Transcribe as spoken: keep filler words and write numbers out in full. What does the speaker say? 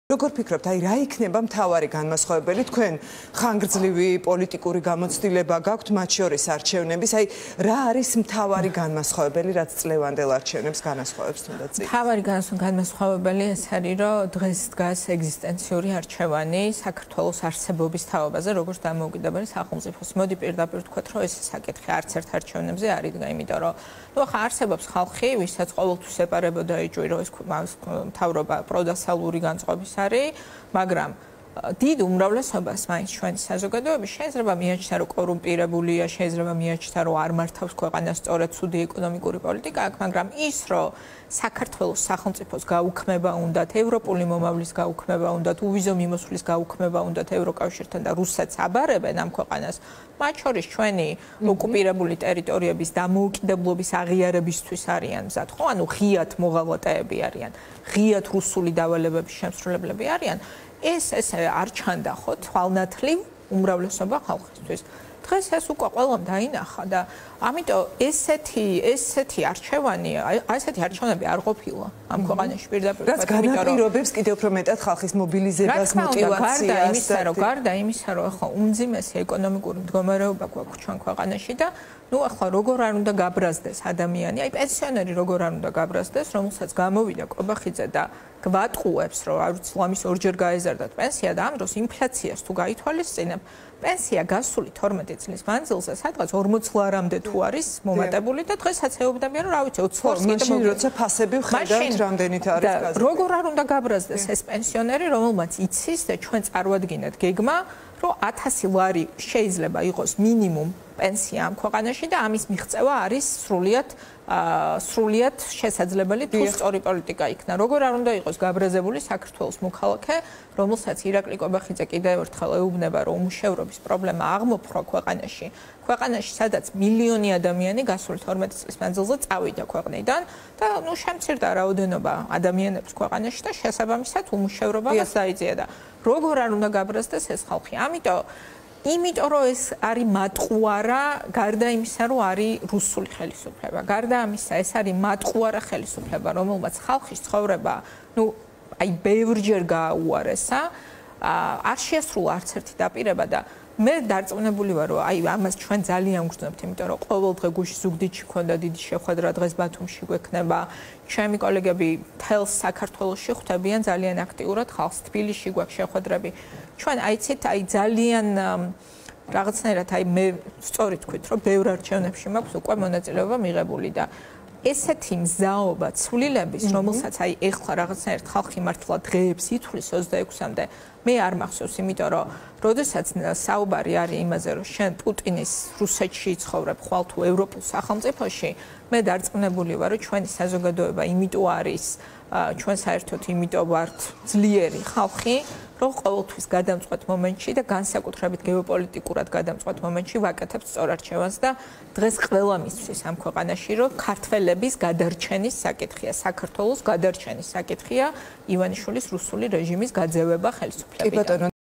Როგორ ფიქრობთ, აი რა იქნება მთავარი განმასხვავებელი თქვენ ხანგრძლივი პოლიტიკური გამოცდილება გაქვთ მათ შორის არჩევნების, აი რა არის მთავარი განმასხვავებელი, რაც წლევანდელ არჩევნებს განასხვავებს თუნდაც? მთავარი განმასხვავებელი ეს არის, რომ დღეს დგას ეგზისტენციური არჩევანი საქართველოს არსებობის თაობაზე, როგორც დამოუკიდებელი სახელმწიფოს. მოდი პირდაპირ ვთქვათ, რომ ეს საკითხი არც ერთ არჩევნებზე არ იდგა, იმიტომ რომ ნუ ახლა არსებობს ხალხი, ვისაც ყოველთვის ეპარებოდა იჭვი, რომ ეს მთავრობა პროდასალური განწყობის არის, მაგრამ დიდ უმრავლესობას მაინც ჩვენი საზოგადოების შეიძლება მიაჩნდა, რომ კორუმპირებულია, შეიძლება მიაჩნდა, რომ არ მართავს ქვეყანას სწორედ ცუდი ეკონომიკური პოლიტიკა აქვს, მაგრამ ის, რომ საქართველოს სახელმწიფოს გაუქმება უნდათ, ევროპული მომავლის გაუქმება უნდათ, უვიზო მიმოსვლის გაუქმება უნდათ ევროკავშირთან და რუსეთს აბარებენ ამ ქვეყანას, მათ შორის ჩვენი ოკუპირებული ტერიტორიების დამოუკიდებლობის აღიარებისთვის არიან მზად, ხო? ანუ ღიად მოღალატეები არიან, ღიად რუსული დავალებების შემსრულებლები არიან. ეს ესე არ ჩანდა ხო თვალნათლივ უმრავლესობა ხალხისთვის. დღეს ეს უკვე ყველამ დაინახა და ამიტომ ესეთი ესეთი არჩევანი, ესეთი არჩევნები არ ყოფილა ამ ქვეყანაში პირდაპირ. რაც განაპირობებს კიდევ უფრო მეტად ხალხის მობილიზებას, მოტივაციას. გარდა იმისა, რომ გარდა იმისა, რომ ახლა უმძიმესი ეკონომიკური მდგომარეობა გვაქვს ჩვენ ქვეყანაში და ნუ ახლა როგორ არ უნდა გაბრაზდეს ადამიანი, აი პენსიონერი როგორ არ უნდა გაბრაზდეს, რომელსაც გამოვიდა კობახიძე და გვატყუებს, რომ არ ვიცი, ლამის ორჯერ გაეზარდათ პენსია და ამ დროს ინფლაციას თუ გაითვალისწინებ, პენსია გასული თორმეტი წლის მანძილზე სადღაც ორმოც ლარამდე თუ არის მომატებული და დღესაც ეუბნებიან, რომ რა ვიცი, ოცი ლარს კიდე მაშინ როცა ფასები ვხედავთ, რამდენით არის გაზეთი. როგორ არ უნდა გაბრაზდეს ეს პენსიონერი, რომელმაც იცის და ჩვენ წარვადგინეთ გეგმა, რომ ათასი ლარი შეიძლება იყოს მინიმუმ პენსია ამ ქვეყანაში და ამის მიღწევა არის სრულიად სრულიად შესაძლებელი თუ სწორი პოლიტიკა იქნა. როგორ არ უნდა იყოს გაბრაზებული საქართველოს მოქალაქე, რომელსაც ირაკლი კობახიძე კიდევ ერთხელ ეუბნება, რომ უმუშევრობის პრობლემა აღმოფხვრა ქვეყანაში. ქვეყანაში, სადაც მილიონი ადამიანი გასული თორმეტი წლის მანძილზე წავიდა ქვეყნიდან და ნუ შემცირდა რაოდენობა ადამიანების ქვეყანაში და შესაბამისად უმუშევრობაც დაიძია და როგორ არ უნდა გაბრაზდეს ეს ხალხი. ამიტომ იმიტომ რომ ეს არის მატყუარა, გარდა იმისა, რომ არის რუსული ხელისუფლება. გარდა ამისა, ეს არის მატყუარა ხელისუფლება, რომელმაც ხალხის ცხოვრება, ნუ აი ბევრჯერ გააუარესა, არ შეასრულა არც ერთი დაპირება და მე დარწმუნებული ვარ, რომ აი ამას ჩვენ ძალიან გვგრძნობთ, იმიტომ რომ ყოველდღე გუშინ ზუგდიდში ქონდა დიდი შეხვედრა, დღეს ბათუმში გვექნება. ჩემი კოლეგები თელს საქართველოში ხვდებიან ძალიან აქტიურად ხალხს, თბილისში გვაქვს შეხვედრები. ჩვენ აიცით, აი ძალიან რაღაცნაირად აი მე სწორედ თქვით, რომ ბევრ არჩევნებში მაქვს უკვე მონაწილეობა მიღებული და ესეთი მზაობა ცვლილების, რომელსაც აი ეხლა რაღაცნაირად ხალხი მართლა დღეებს ითვლის ოცდაექვსამდე, მე არ მახსოვს, იმიტომ რომ როდესაც საუბარი არის იმაზე, რომ შენ პუტინის რუსეთში იცხოვრებ, ხვალ თუ ევროპულ სახელმწიფოში, მე დარწმუნებული ვარ, რომ ჩვენი საზოგადოება იმიტომ არის, ჩვენ საერთოდ იმიტომ ვართ ძლიერი ხალხი, რომ ყოველთვის გადამწყვეტ მომენტში და განსაკუთრებით გეოპოლიტიკურად გადამწყვეტ მომენტში ვაკეთებთ სწორ არჩევანს და დღეს ყველა მისთვის ამ ქვეყანაში, რომ ქართველების გადარჩენის საკითხია, საქართველოს გადარჩენის საკითხია, ივანიშვილის რუსული რეჟიმის გაძევება ხელისუფლებიდან.